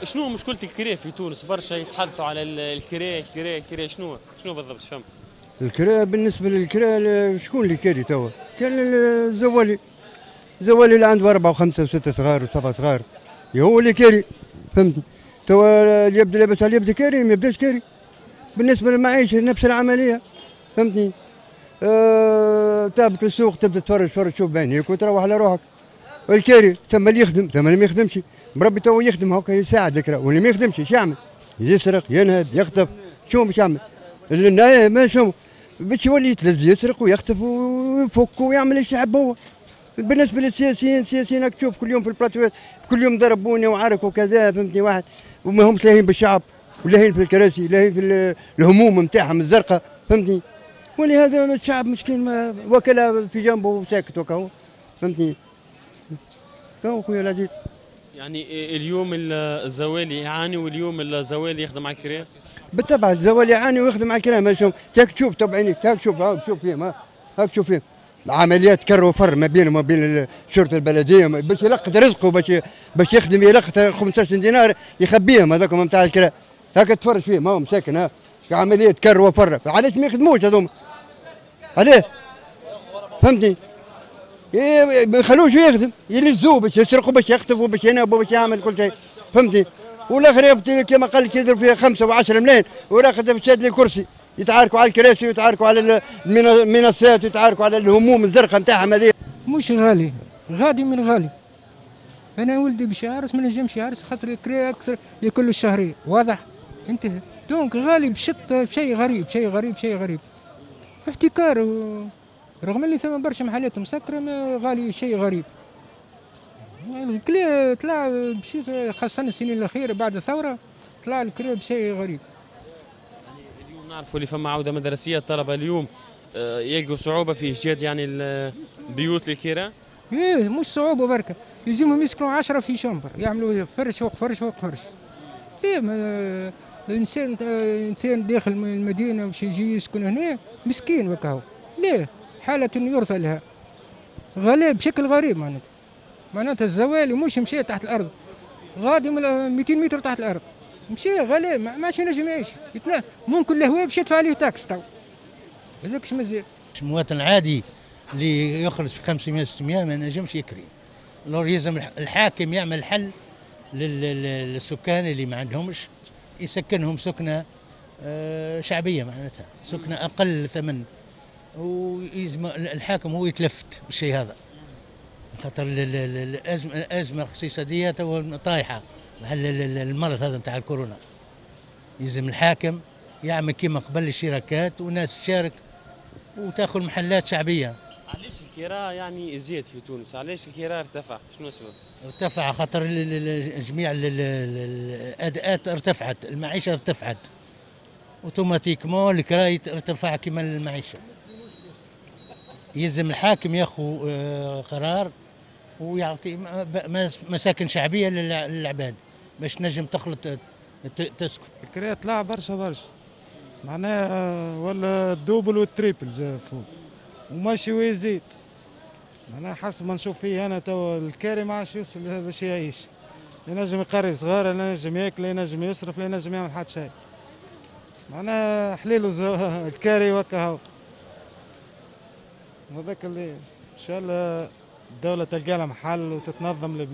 شنو مشكلة الكري في تونس؟ برشا يتحدثوا على الكري الكري الكري، شنو بالضبط فهم؟ الكراء بالنسبة للكراء شكون اللي كاري توا؟ كان الزوالي، الزوالي اللي عنده 4 و5 و6 صغار و7 صغار هو اللي كاري، فهمتني؟ توا اللي يبدا لاباس عليه يبدا كاري، ما يبداش كاري. بالنسبة للمعيشة نفس العملية، فهمتني؟ تهبط للسوق تبدا تفرج تفرج تشوف بعينيك وتروح على روحك. الكاري ثم اللي يخدم ثم اللي ما يخدمش، مربي توا يخدم هكا يساعد الكراء، واللي ما يخدمش ايش يعمل؟ يسرق، ينهب، يخطف، شو باش يعمل؟ ما شو باش يولي يتلز، يسرق ويخطف ويفك ويعمل ايش يحب هو. بالنسبة للسياسيين، السياسيين راك تشوف كل يوم في البلاتوات، كل يوم ضربوني وعرك وكذا، فهمتني؟ واحد وما همش لاهين بالشعب ولاهين في الكراسي، لاهين في الهموم نتاعهم الزرقاء، فهمتني؟ ولهذا الشعب مسكين وكلها في جنبه وساكت وكهو، فهمتني؟ كهو خويا العزيز. يعني اليوم الزوالي يعاني واليوم الزوالي يخدم على الكراء؟ بالطبع الزوالي يعاني ويخدم على الكراء، ما تاك تشوف طبعا عينيك، تاك تشوف، هاك تشوف فيهم، هاك تشوف فيهم عمليات كر وفر ما بينهم وما بين الشرطة البلدية باش يلقط رزقه، باش يخدم يلقط 15 دينار يخبيهم هذوك نتاع الكراء، هاك تفرج فيهم هاهم مساكن، ها عملية كر وفر، علاش ما يخدموش هذوما؟ علاه؟ فهمتني؟ ما يخلوش يخدم، يلزوه باش يسرقوا باش يخطفوا باش ينهبوا باش يعمل كل شيء، فهمتني؟ والاخر كما قال لك يضرب فيها 5 و10 ملايين وراخذ شاد لي الكرسي، يتعاركوا على الكراسي ويتعاركوا على المنصات ويتعاركوا على الهموم الزرقاء نتاعهم هذه. مش غالي، غادي من غالي. انا ولدي باش يعرس ما نجمش يعرس خاطر الكرا اكثر ياكل الشهرية، واضح؟ انتهى. donc غالي بشط شيء غريب، شيء غريب، شيء غريب. احتكار رغم اللي ثم برشا محلات مسكره، ما غالي شيء غريب. الكرا طلع بشيء، خاصة السنين الأخيرة بعد الثورة طلع الكرا بشيء غريب. يعني اليوم نعرفوا اللي فما عودة مدرسية، الطلبة اليوم يلقوا صعوبة في إيجاد يعني البيوت للكراء؟ إيه مش صعوبة بركة، يلزمهم يسكنوا 10 في chambre، يعملوا فرش فوق فرش فوق فرش. إيه الإنسان إنسان داخل من المدينة باش يجي يسكن هنا مسكين وكاهو، ليه؟ حالة يرثى لها. غلاء بشكل غريب معناتها. معناتها الزوالي مش مشى تحت الارض، غادي 200 متر تحت الارض، مشى غلاء ما عادش ينجم يعيش، ممكن الهواء باش يدفع عليه taxe تو. هذاك مازال. المواطن العادي اللي يخرج في 500 600 ما ينجمش يكري. alors يلزم الحاكم يعمل حل للسكان اللي ما عندهمش، يسكنهم سكنه شعبية معناتها، سكنه اقل ثمن، ويلزم الحاكم هو يتلفت بالشيء هذا. خاطر الازمة الاقتصادية تو طايحة مع المرض هذا نتاع الكورونا. يلزم الحاكم يعمل كيما قبل الشراكات وناس تشارك وتاخذ محلات شعبية. علاش الكراء يعني يزيد في تونس؟ علاش الكراء ارتفع؟ شنو السبب؟ ارتفع خاطر جميع الاداءات ارتفعت، المعيشة ارتفعت. automatiquement الكراء ارتفع كيما المعيشة. يلزم الحاكم ياخذ قرار ويعطي مساكن شعبية للعباد باش تنجم تخلط تسكن. الكراء طلع برشا برشا، معناها ولا ال double وال triple زاد فوق وماشي ويزيد. معناها حسب ما نشوف فيه انا توا الكاري ما عادش يوصل باش يعيش، لا ينجم يقري صغار، لا ينجم ياكل، لا ينجم يصرف، لا ينجم يعمل حتى شيء. معناها حليلو الكاري وكاهو. هذاك اللي ان شاء الله الدولة تلقى لها محل وتتنظم البلاد.